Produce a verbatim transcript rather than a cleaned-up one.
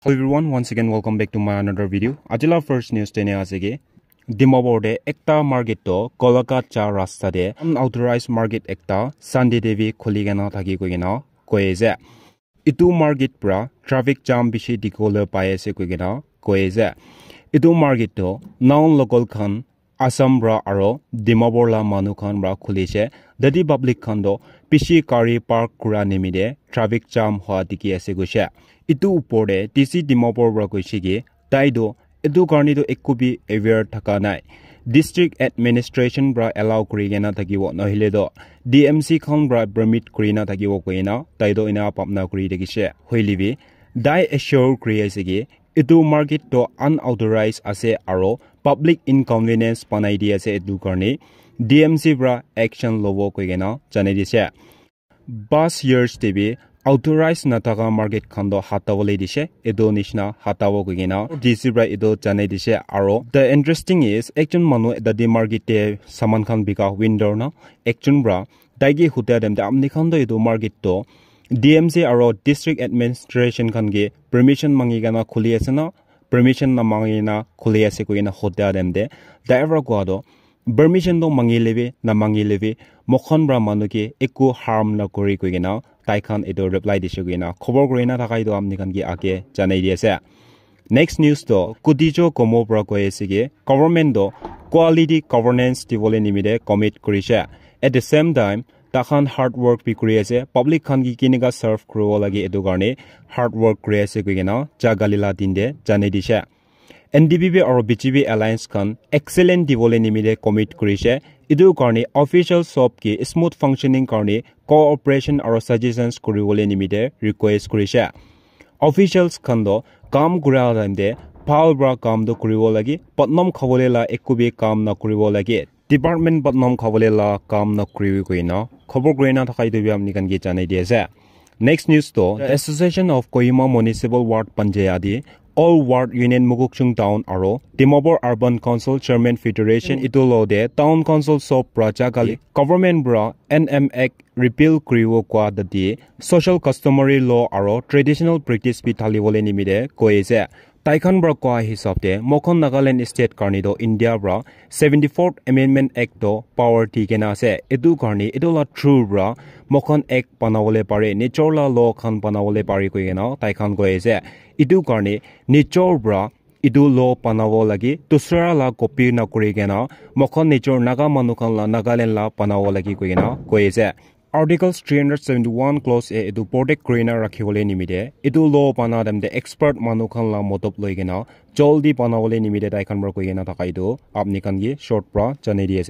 Hello everyone, once again welcome back to my another video. Ajila first news tene ase ki Dimapur te ekta market to Golaghat ja rasta te unauthorized market ekta Sunday te bi khuli kena thaki koi kena koi ase. Itu market pra traffic jam bishi dikhibole pai ase koi kena koi ase. Itu market to non local khan Assam pra aro Dimapur la manu khan pra khulise. Dadi public khan to bishi gari park kura nimite traffic jam hwa dikhi ase koise. Itu upor te D C Dimapur pra koise ki tai to itu karne to ekko bi aware thaka nai. District administration pra allow kuri kena thakibo, nohile to D M C khan pra permit kuri na thakibo koina tai to ina bhabna kuri thakise. Hoile bi tai assure kuri ase ki itu market to unauthorized ase aro public inconvenience banai di ase, itu karne D M C pra action lobo koi kena janai dise. Past years te bi authorized nathaka market khan to hatawole dise, itu nishina hatawo koi kena D C pra itu janai dise. Aro the interesting is ekjon manu dadi market te saman khan bika vendor na ekjon pra tai ke hudia time te amni khan to itu market to D M C aro district administration khan ke permission mangi kena khuli ase na, permission na mangi na khuli ase koi kena hudia time te driver koa to permission to mangi lebi na mangi lebi moikhan pra manu ke ekko harm na kuri koi kena tai khan itu reply dise koi kena khobor kuri na thaka itu amni khan ke age janai di ase. Next news to Kutijo Komo pra koi ase ki government to quality governance dibole nimite commit kurise. At the same time, takhan hard work bi kuri ase, public khan ki kinika serve kuribo lage itu karne hard work kuri ase koi kena jagali la din te janai dise. N D P P aro B J P alliance khan excellent dibole nimite commit kurise. Itu karne official sob ki smooth functioning karne cooperation aro suggestions kuribole nimite request kurise. Officials khan to kam kura time te bhal pra kam to kuribo lage, badnam khabole la ekko bi kam na kuribo lage. Department badnam khabole la kam na kuribi koi na khobor kuri na thaka itu bi amni khan ke janai di ase. Next news to the Association of Kohima Municipal Ward Panchayati, All Ward Union Mokokchung Town aro Dimapur Urban Council Chairman Federation itu lo de Town Council sob pra jagali government pra N M Act repeal kuribo koa dadi social customary law aro traditional practice bi thalibole nimite koi ase. Tai khan pra koa hisab te moikhan Nagaland state karne to India pra seventy fourth Amendment Act to power di kena ase. Itu karne itu la through pra moikhan act banabole pare, nijor la law khan banabole pare koi kena tai khan koi ase. Itu karne nijor pra itu law banabo lage, dusra la copy na kuri kena moikhan nijor Naga manu khan la Nagaland la banabo lage koi kena koi ase. Articles three hundred seventy-one clause A itu protect kuri na rakhibole nimite itu law bana time te expert manu khan la modop loi kena jaldi banabole nimite tai khan pra koi kena thaka itu apni khan ke short pra janai di ase.